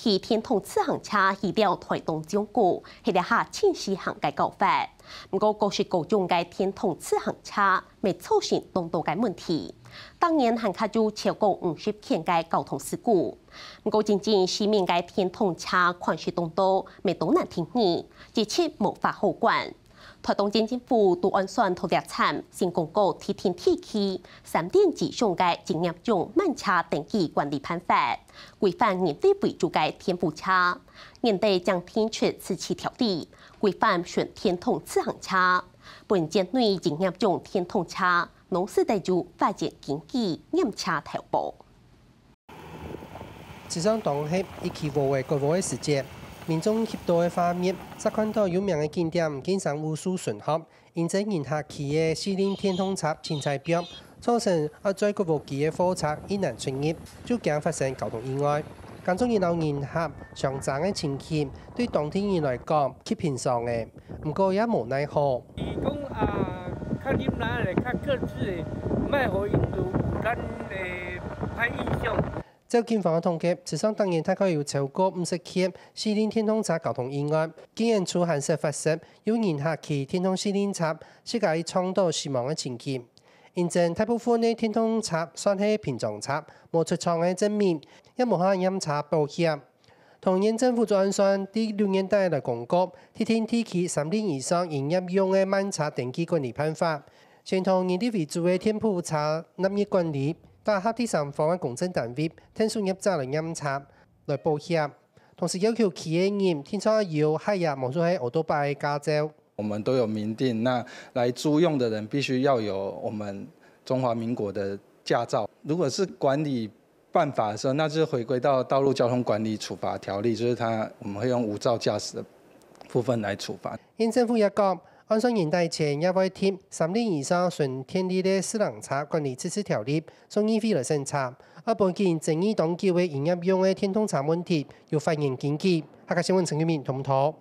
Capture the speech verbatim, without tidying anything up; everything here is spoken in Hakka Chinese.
騎電動自行車去了臺東縱谷，係這下盡時行个搞法。毋過，各式各種个電動自行車，乜造成當多个問題。逐年還較有超過五十件个交通事故。毋過，真正市面个電動車款式當多，乜都難定義，一直無法好管。 臺東縣政府都按算到這站，先公告特定地區三輪以上个營業用慢車登記管理辦法，規範人力為主个電輔車。年底正定出自治條例，規範純電動自行車，分縣內營業用電動車，攏使得有發現經紀驗車投保。 自從當黑一起烏个過烏个時節，民眾翕到个畫面，就看到有名个景點金山武樹巡河，因為人客騎个四輪電動車盡在飆，造成愛載過烏機个貨車一難出入，就驚發生交通意外。工作人員摎人客相爭个情形，對當地人來講，極平常个，毋過也無奈何。 伊講啊，較忍耐咧，較克制咧，莫予𪜶有咱个歹印象。照警方个統計，自從逐年大概有超過五十件四輪電動車交通意外，警員處還識發生有人客騎電動四輪車，自家撞著死亡个情形。因為大部分个電動車算係平常車，無出廠个證明，也無下驗車保險。 桃園縣政府就按算，對六月底來公告，特定地區三輪以上營業用个慢車登記管理辦法，先同人力為主个電輔車納入管理，加下第三方个公證單位，跈作業者來驗車、來保險，同時要求騎个人定著有high-ya無就係奧多拜个駕照。我們都有明定，那來租用的人必須要有我們中華民國的駕照。如果是管理 辦法的時候，那就是回歸到道路交通管理處罰條例，就是它，我們會用無照駕駛的部分來處罰。縣政府也講，按算年底前也會定三輪以上純電力个四輪車管理自治條例，送議會來審查，愛分經營爭議當久个營業用个電動車問題有法源根據。客家新聞陳玉明，同步